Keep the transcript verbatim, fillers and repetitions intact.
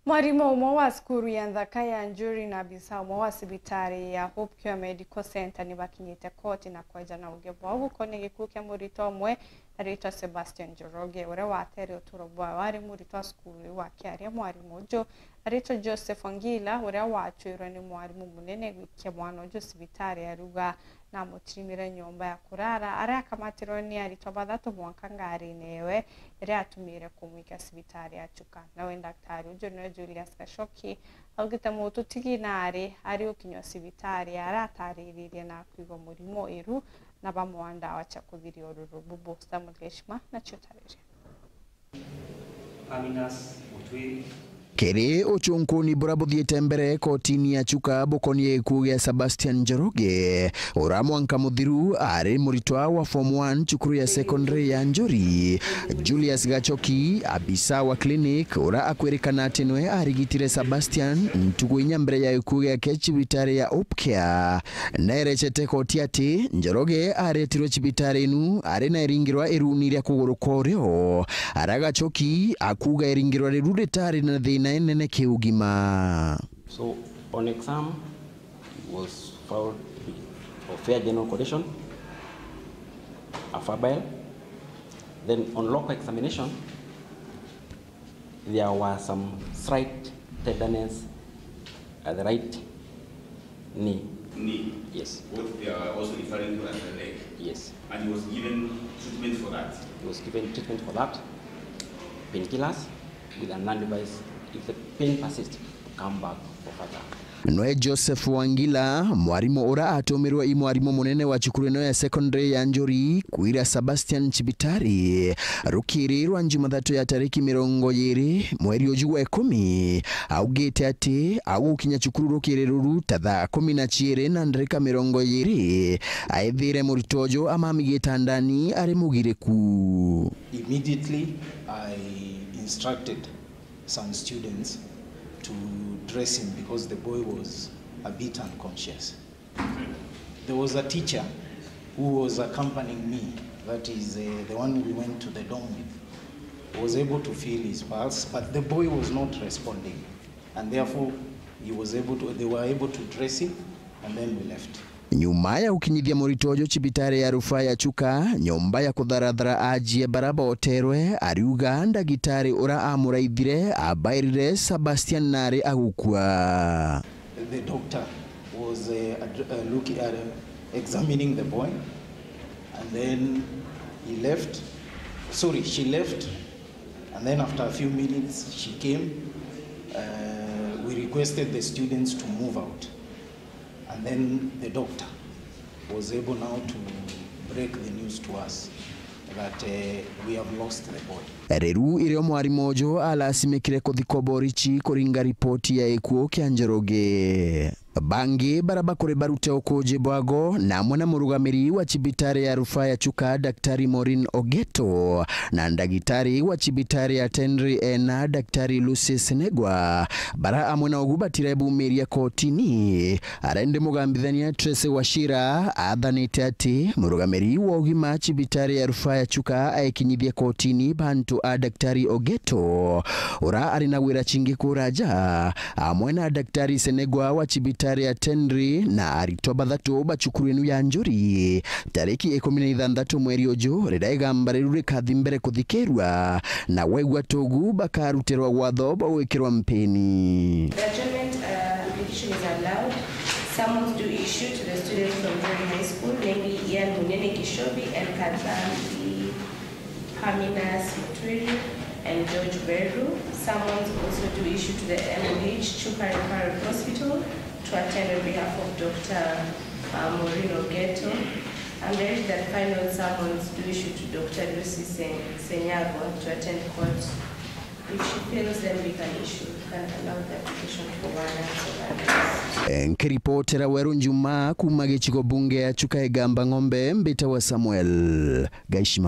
Mwarimu umwe wa cukuru ya nthaka ya Njuri na abisa umwe wa cibitari ya Hope Cure Medical Centre ni bakinyite koti na kweja na uge bwao gukonia gikuu kia muritwa umwe aritwa Sebastian Njoroge, uria watere uturo bwawe ari muritwa wa cukuru iu akiaria. Mwarimu uju aritwa Joseph Wangila, uria wacwirwe ni mwarimu munene gwikia mwana uju cibitari, ariuga namutirimire nyomba ya kurara aria akamatirwe ni aritwa bathatu mwanka ngarine yewe iria atumire kumwika cibitari ya Chuka. Nawe ndaktari uju niwe Julius Gachoki augite mututigi nari ari ukinywa cibitari aratariririe na kwigwa murimo iru na bamwa ndawa cia kuthiria ururu bubu. Samuel Geshima na ciutariri. Aminas Mutwiri. Kiri ucunkuni bura buthiite mbere kotini ya Chuka bukonie gikuu gia Sebastian Njoroge, ura mwanka muthiru ari muritwa wa form one cukuru ya secondary ya Njuri. Julius Gachoki, abisa wa clinic, ura akwirikana ati niwe arigitire Sebastian ntuku inya mbere ya gikuu giake cibitari ya Hope Cure, naerecete koti ati Njoroge aretirwe cibitari inu ari na iringirwa iruni ria kuguru kwa urio, ara Gachoki akuuga iringirwa riru ritari na thina inene kiugima. So, on exam, he was found for fair general condition, afabile. Then on local examination, there were some slight tenderness at the right knee. Knee? Yes. What they are also referring to as the leg? Yes. And he was given treatment for that? He was given treatment for that, painkillers, with an advice, if the pain persists, to come back for further. Nwe Joseph Wangila, mwarimu ura atumirwe i mwarimu munene wa cukuru ino ya secondary ya Njuri kwira Sebastian cibitari rukiri rwa Njumathatu ya tariki mirongo iri mweri uju wa ikumi, augite ati agukinya cukuru rukiri ruru ta thaa kumi na ciiri na ndarika mirongo iri, aethire muritwa uju amami gitandani ari mugiriku. Immediately, I instructed some students to dress him because the boy was a bit unconscious. There was a teacher who was accompanying me, that is, uh, the one we went to the dorm with, was able to feel his pulse, but the boy was not responding, and therefore he was able to, they were able to dress him, and then we left. Nyuma ya gukinyithia muritwa uju cibitari ya rufaa ya Chuka, nyomba ya kutharathara ajie bara boterwe, ariuga ndagitari ura amuraithire abairire Sebastian nari agukua. The doctor was, uh, ad-, uh, looking at, uh, examining the boy, and then he left. Sorry, she left, and then after a few minutes she came. Uh, we requested the students to move out. And then the doctor was able now to break the news to us that, eh, we have lost the boy. Riu irio mwarimu uju alasimikire kuthikwa borichi kuringa ripoti ya gikuo kia Njoroge. Bangi bara bakuri barute ukuji bwago na amwe na murugamiri wa cibitari ya rufaa ya Chuka, Daktari Maureen Ogeto, na ndagitari wa cibitari ya Tenri ena, Daktari Lucy Senegwa, bara amwe na ugu batiraebumiria kotini. Ara indi mugambithania Tracy Wachira athanite ati murugamiri wa ugima cibitari ya rufaa ya Chuka aikinyithie kotini bantu a Daktari Ogeto, ura ari na wira cingi kuraja, amwe na Daktari Senegwa wa cibitari ya Tenri na aritwa bathatu ba cukuru inu ya Njuri, tariki ikumi na ithanthatu mweri uju, riria igamba riu rikathi mbere kuthikirua, na waigua tugu bakarutirwa watho bwa gwikirwa mpini. The adjournment, uh, application is allowed. Summons do issue to the students from Njuri High School, namely Ian Munene Kishobi and Kadhambi Aminas Mutwiri and George Beru. Summons also do issue to the M O H Chuka Referral Hospital to attend on behalf of Doctor, uh, Maureen Ogeto. And there is that final summons do issue to Doctor Lucy Sen-, Senyago to attend court. If she fails, then we can issue, we can allow the application for one and so on. Nkiripotera Weru Njuma kuma gicigo bunge ya Chuka Igamba Ng'ombe, mbitawa Samuel Gaishima.